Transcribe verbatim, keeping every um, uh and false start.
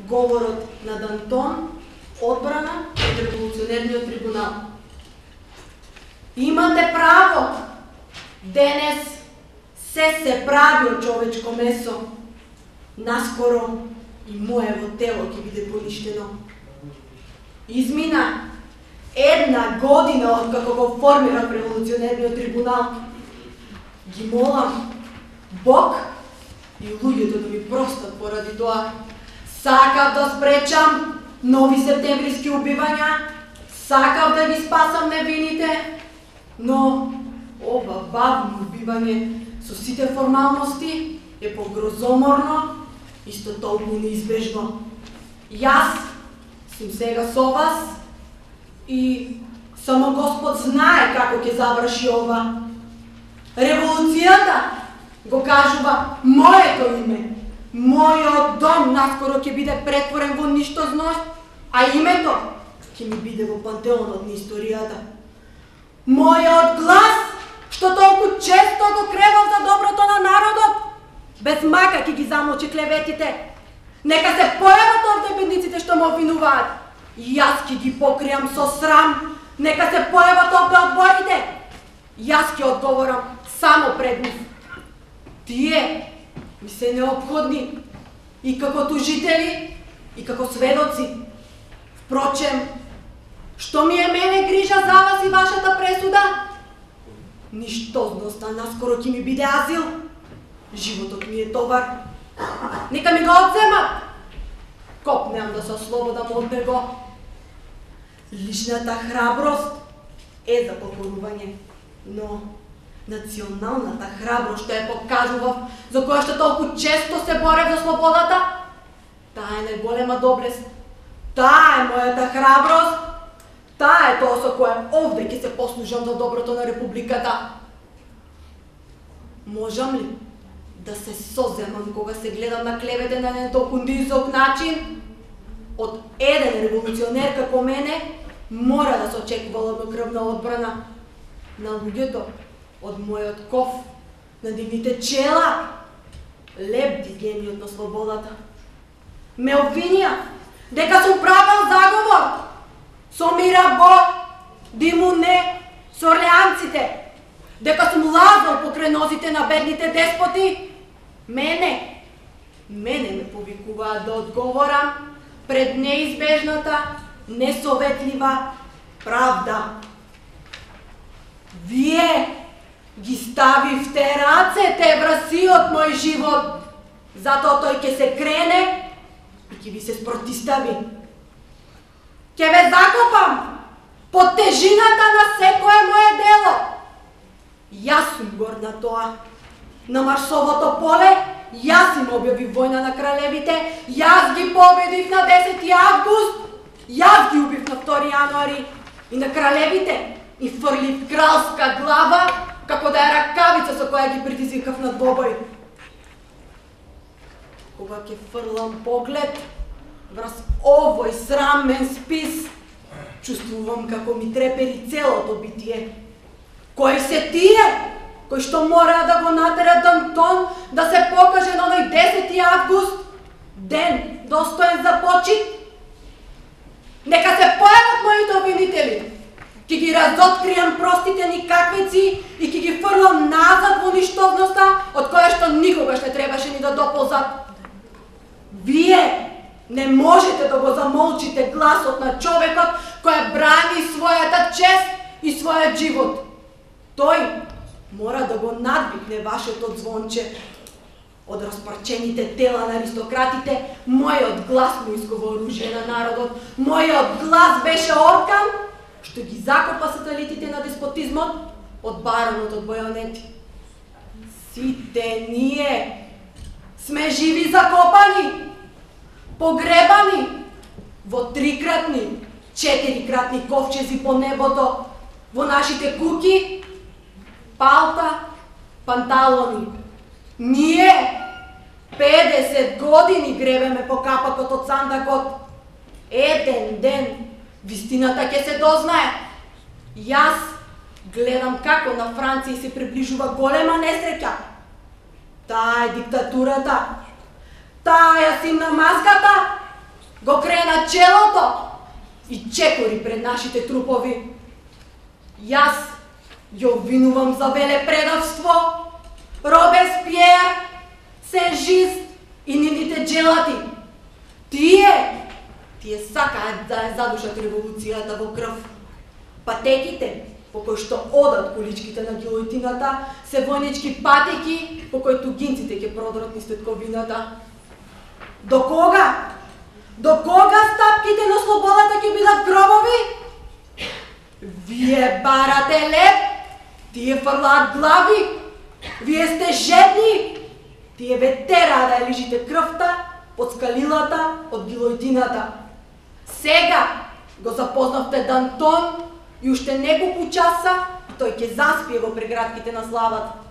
говорот на Д'Антон, одбрана од револуционерниот трибунал. Имате право, денес се се прави од човечко месо. Наскоро и моево тело ќе биде поништено. Измина една година од како го формирав револуционерниот трибунал. Ги молам Бог и луѓето да ми простат поради тоа. Сакав да спречам нови септемвриски убивања, сакав да ги спасам невините, но ова бавно убивање со сите формалности е погрозоморно, исто толку неизбежно. Јас сум сега со вас и само Господ знае како ќе заврши ова. Револуцијата го кажува моето име. Мојот дом наскоро ќе биде претворен во ништозност, а името ќе ми биде во пантеонот на историјата. Мојот глас, што толку често го кревав за доброто на народот, без мака ќе ги замолчи клеветите. Нека се појават овде бедниците што ме обвинуваат. Јас ќе ги покријам со срам. Нека се појават овде одборите. Јас ќе одговорам само пред нив. Тие ми се неопходни и како тужители, и како сведоци. Впрочем, што ми е мене грижа за вас и вашата пресуда? Ништозноста наскоро ќе ми биде азил. Животот ми е товар. Нека ми го одземат. Копнеам да се ослободам од него. Личната храброст е за покорување, но националната храброст што ја покажував, за која што толку често се борев за слободата, таа е најголема доблест. Таа е мојата храброст. Таа е тоа со која овде ќе се послужам за доброто на републиката. Можам ли да се соземам кога се гледам на клевете на еден толку низок начин? Од еден револуционер како мене мора да се очекува ладнокрвна одбрана. На луѓето од мојот ков, на нивните чела, лебди гениот на слободата. Ме обвинија дека сум правел заговор со Мирабо, Димуне, со орлеанците, дека сум лазал покрај нозите на бедните деспоти. Мене, мене ме повикуваат да одговорам пред неизбежната, несоветлива правда. Вие ги ставивте рацете врз сиот мој живот, затоа тој ќе се крене и ќе ви се спротистави. Ќе ве закопам под тежината на секое мое дело. Јас сум горд на тоа. На Марсовото поле јас им објави војна на кралевите, јас ги победив на десети август, јас ги убив на втори јануари и на кралевите и фрлив кралска глава како да е ракавица со која ги предизвикав на двобој. Кога ќе фрлам поглед врз овој срамен спис, чувствувам како ми трепери целото битие. Кои се тие кои што мора да го натерат Д'Антон да се покаже на оној десети август, ден достоен за почит? Нека се појават моите обвинители. Ќе ги разоткријам простите никаквици и ќе ги фрлам назад во ништовноста, од која што никогаш не требаше ни да доползат. Вие не можете да го замолчите гласот на човекот кој брани својата чест и својот живот. Тој мора да го надвикне вашето звонче. Од распарчените тела на аристократите, мојот глас му искува оружје на народот. Мојот глас беше оркан што ги закопа сателитите на деспотизмот од баронот од бојонети. Сите ние сме живи закопани, погребани во трикратни, четирикратни ковчези по небото, во нашите куки, палта, панталони. Ние педесет години гребеме по капакот од сандакот. Еден ден вистината ќе се дознае. Јас гледам како на Франција се приближува голема несреќа. Таа е диктатурата. Таа е симна маската. го крена челото и чекори пред нашите трупови. Јас ја обвинувам за велепредавство Робеспиер, Сен-Жист и нивните джелати. Тие, тие сакаат да ја задушат револуцијата во крв. Патеките по кои што одат количките на гилотината се војнички патеки по кои тугинците ќе продрат низ тетковината. До кога? До кога стапките на слободата ќе бидат гробови? Вие барате леп, тие фрлаат глави, вие сте жедни, тие ве тераа да ја лижите крвта од скалилата, од гилотината. Сега го запознавте Д'Антон и уште неколку часа тој ќе заспие во преградките на славата.